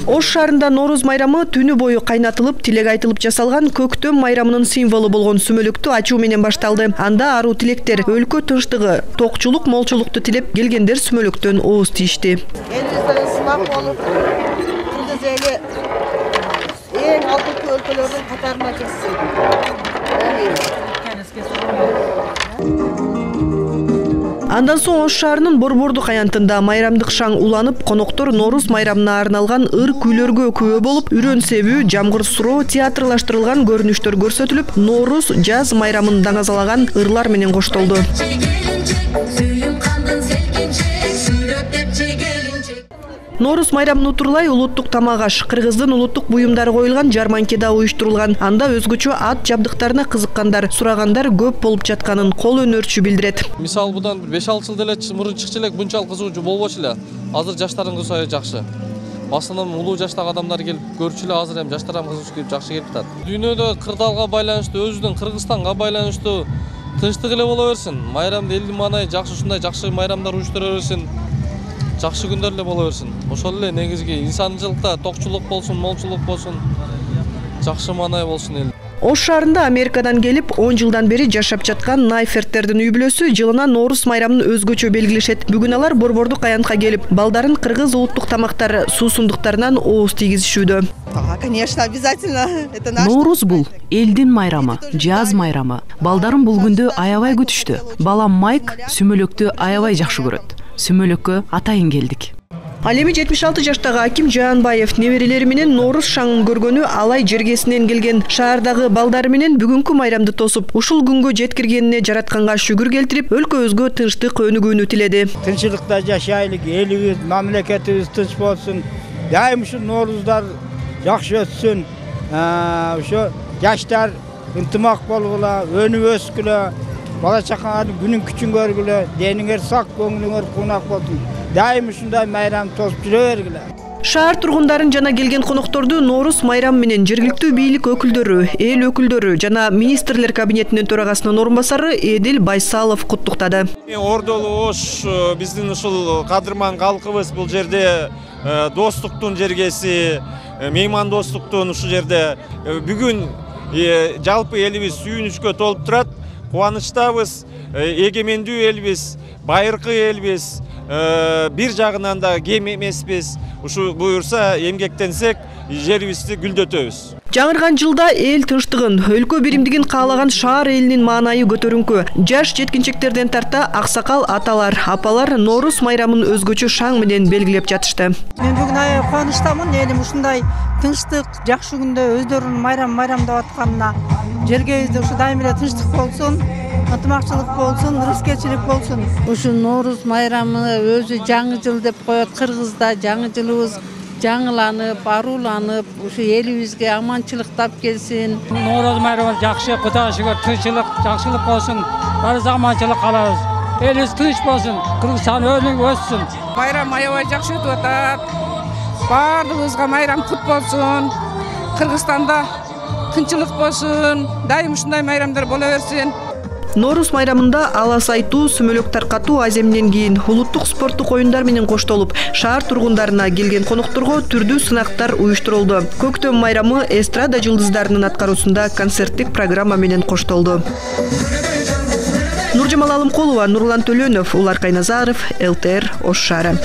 Ош шаарында Нооруз майрамы түнү бою кайнатылып, тилек айтылып жасалган көктөм майрамынын символу болгон сүмөлүктү ачуу менен башталды. Анда аруу тилектер, өлкө тынчтыгы, токчулук, молчулукту тилеп келгендер сүмөлүктөн ооз тийишти. Элибизден сынак болуп, күндүз эли эң алдыңкы өлкөлөрдүн катарына кирсин. Андан соң Ош шаарынын Борбордук аянтында майрамдык шаң уланып, коноктор Нооруз майрамына арналган ыр күйлөргө күбө болуп, үрөн себүү, жамгыр суроо, театрлаштырылган көрүнүштөр көрсөтүлүп, Нооруз жаз майрамын даңазалаган ырлар менен коштолду. Нооруз майрамын утурлай улуттук тамак аш, кыргыздын улуттук буюмдары коюлган жарманке да уюштурулган. Анда өзгөчө ат жабдыктарына кызыккандар, сурагандар көп болуп жатканын кол өнөрчү билдирет. Мисалы будан 5-6 жыл деле мурун чыкчу элек мынчалык кызыгуучу болбочу эле. Азыр жаштардын кызыгуусу жакшы. Басынан улуу жаштагы адамдар келип көрчү эле, азыр эми жаштар ham кызыгуучу келип жакшы келип атат. Дүйнөдө кырдаалга байланыштуу, өзүбүздүн Кыргызстанга байланыштуу тынчтык эле боло берсин. Майрамды элдин маанайы жакшы, ушундай жакшы майрамдар уюштура берсин. Жакшы күндөр эле боло берсин. Ошол эле негизги инсанчылыкта токчулук болсун, молчулук болсун, жакшы маанай болсун эл. Ош шаарында Америкадан келип 10 жылдан бери жашап жаткан Найферттердин үй бүлөсү жылына Нооруз майрамын өзгөчө белгилешет. Бүгүн алар Борбордук аянтка келип, балдарын кыргыз улуттук тамактары, суусундуктарынан ооз тийгизишүүдө. Конечно, обязательно. Нооруз бул элдин майрамы, жаз майрамы. Балдарым бул күндү аябай күтүштү. Балам Майк сүмөлөктү аябай жакшы көрөт. Сүмөлөккө атайын келдик. Ал эми 76 жаштагы Аким Жаанбаев неберелери менен Нооруз шаңын көргөнү алай жергесинен келген. Шаардагы балдары менен бүгүнкү майрамды тосуп, ушул күнгө жеткиргенине жаратканга шүгүр келтирип, өлкөбүзгө тынчтык өнүгүүнү тиледи. Тынччылыкта жашайлык, элибиз, мамлекетибиз тынч болсун. Дайым ушу Нооруздар жакшы өтсүн. Ошо жаштар ынтымак болгула, өнүп өскүлө, бала чакаңардын күнүн күчүн көргүлө, дениңер сак, көңүлүңөр кунак болсун. Дайым ушундай майрам тосуп жүрө бергиле. Шаар тургундарын жана келген конокторду Нооруз майрам менен жергиликтүү бийлик өкүлдөрү, эл өкүлдөрү жана министрлер кабинетинин төрагасынын орун басары Эдил Байсалов куттуктады. Ордолу Ош биздин ушул кадырман калкыбыз, бул жерде достуктун жергеси, меймандостуктун ушул жерде бүгүн жалпы элибиз сүйүнүчкө толуп турат. Кубанычтабыз, эгемендүү элбиз, байыркы элбиз, бир жагынан да кем эмеспиз. Ушу буюрса эмгектенсек, жерибизди гүлдөтөбүз. Жаңырган жылда эл тынчтыгын, өлкө биримдигин каалаган шаар элинин маанайы көтөрүңкү. Жаш жеткинчектерден тарта аксакал аталар, апалар Нооруз майрамын өзгөчө шаң менен белгилеп жатышты. Мен бүгүн аябай кубанычтамын, элим ушундай тынчтык, жакшы күндө өздөрүнүн майрамдап атканына. Жергебизде ушу дайым эле тынчтык болсун, ынтымакчылык болсун, ырыскерчилик болсун. Ушу Нооруз майрамы өзү жаңы жыл деп коет. Кыргызда жаңы жылыбыз жаңыланып, аруланып, ушу элибизге аманчылыктап келсин. Нооруз майрамы жакшы, Кудайга шүгүр, тынччылык, жакшылык болсун. Баарыбыз аманчылык каалайбыз. Элибиз тынч болсун, Кыргызстан өнүгүп өссүн. Майрам аябай жакшы өтүп атат. Баардыгыбызга майрам кут болсун. Кыргызстанда тынччылык болсун. Дайым ушундай майрамдар боло берсин. Нооруз майрамында алас айтуу, сүмөлөк таркатуу аземинен кийин улуттук спорттук оюндар менен коштолуп, шаар тургундарына келген конокторго түрдүү сынактар уюштурулду. Көктөм майрамы эстрада жылдыздарынын аткаруусунда концерттик программа менен коштолду. Нуржамал Алымкулова, Нурлан Төлөнов, Улар Кайназаров, ЛТР, Ош шаары.